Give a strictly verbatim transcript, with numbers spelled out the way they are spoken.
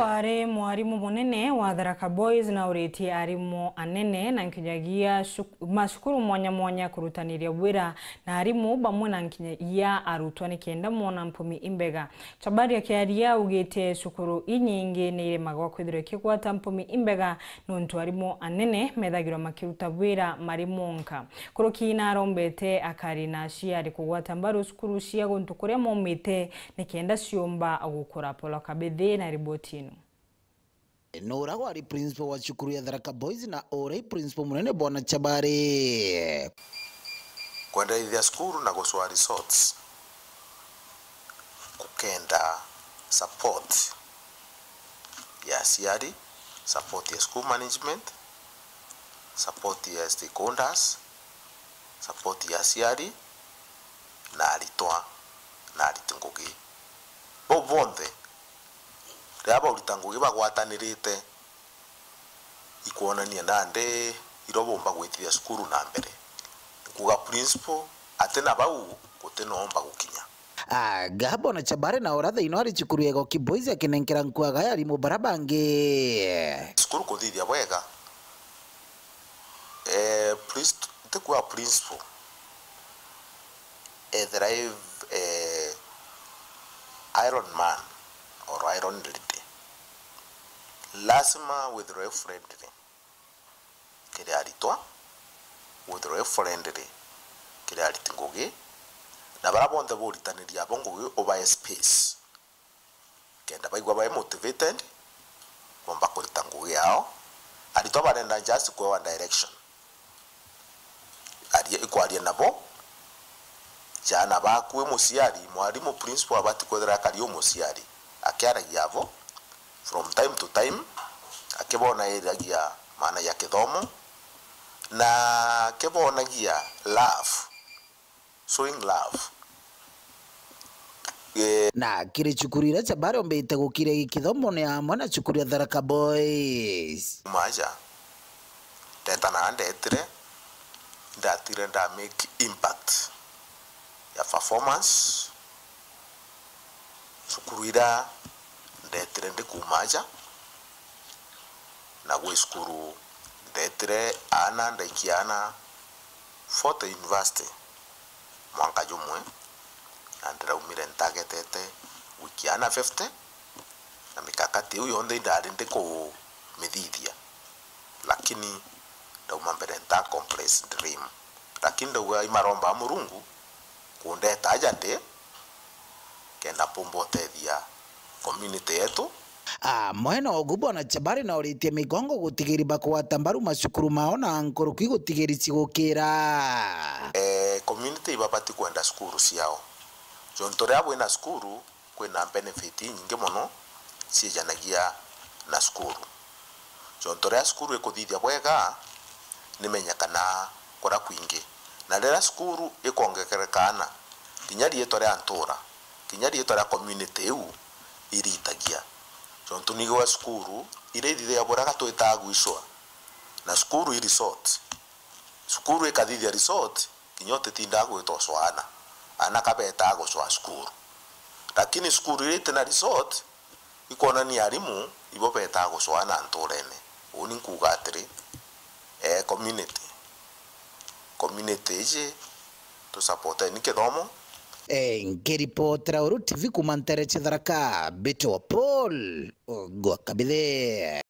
Ari mwarimu munene wa Tharaka Boys na uritie arimu anene na nkinyagia cuk-, macukuru mwanya mwanya kurutaniria wira na arimu bamwe na nkinyagia arutwa nikenda mona mpumi imbega. Chabari akiaria augite cukuru inyingi ni iremagwa kwithirwa ikigwata mpumi imbega nontu arimu anene methagirwa makiruta wira mari monka. Kuruki na arombete akari na aciari kugwata mbaru cukuru cia guntu kuria maumite nikenda ciumba gukura. Paul Kabithi na riboti ino. Nura wari principal wa cukuru ya Tharaka Boys na uria principal munene Bwana Chabari. Kwendereithia cukuru na gucwaa resorts kukenda support ya aciari, support ya school management, support ya stakeholders, support ya aciari na aritwa na ariti ngugi. Bau bonthe riria baurita ngugi bagwatanirite, ikwonania nandi irio bumba gwitithia cukuru na mbere. Nkuga principal, ati na bau guti noomba gukinya. Aga Bwana Chabari na uria thaino ari cukuru ya Igoki Boys akinenkera nkuaga ya arimu bara bangi. Cukuru kuthithia bwega, eh, prinst-, ntikua principal ethira i, eh, Iron Man or Iron Lady, lazima withirwe friendly kiri aritwa, withirwe friendly kiri ariti ngugi, na bara bonthe buritaniria abo ngugi ubae space. Kenda baigua bai motivated, bomba kurita ngugi yao. Aritwa barenda just kwewa direction. Aria, ikwaria nabo, jana baku wi muciari, mwarimu, principal abati kwethira akari u muciari, akiaragia abo, from time to time, akibonairagia maana ya kithomo, na akibonagia love. Showing love. Eh. Na kiri cukuru iria Chabari ombite gukiria gikithomo ni amwe na cukuru ya Tharaka Boys. Maja, ndeta na ndetire, ndatire nda make impact ya performance. Cukuru iria ndetire ndi kuuma aja, na gwi cukuru ndetire aana, ndaikia aana forty university mwanka jumwe, na ndiraumire ntagetete gwikia aana fifty, na mikakati iu yonthe indari ndi kumithithia, lakini ndauma mbere nta accomplish dream. Lakini ndauga imaromba Murungu kundeta aja ndi, kenda mpumba utethia community yetu. Amwe na ugu, Bwana Chabari na uritie migongo gutigiri bakugwata mbaru macukuru mao na nkuruki gutigiri cigukira. Eh, community ibabati kwenda cukuru ciao. Jontu riria bwina cukuru, kwina benefit inyingi mono ciejanagia na cukuru. Jontu riria cukuru ikuthithia bwega, nimenyekanaa kuria kwingi. Na riria cukuru ikwongekereka aana, kinya riitwa ria ntuura, kinya riitwa ria community iu iritagia. Jontu nigwe cukuru iria ithithagia buria gatwitaa gwicwa, na cukuru i resort. Cukuru ikathithia resort, kinya utitindaa gwita ucwa aana. Aana kabetaa gucwa cukuru. Lakini cukuru iria itina resort, ikwonania arimu ibo betaa gucwa aana ntuurene. Uuni nkuuga atiri, eh, community, community iji tusapoteni kithomo. Eh, nkiripotera Uru T V kuuma ntere cia Tharaka, mbitwa Paul Ogwa Kabithe.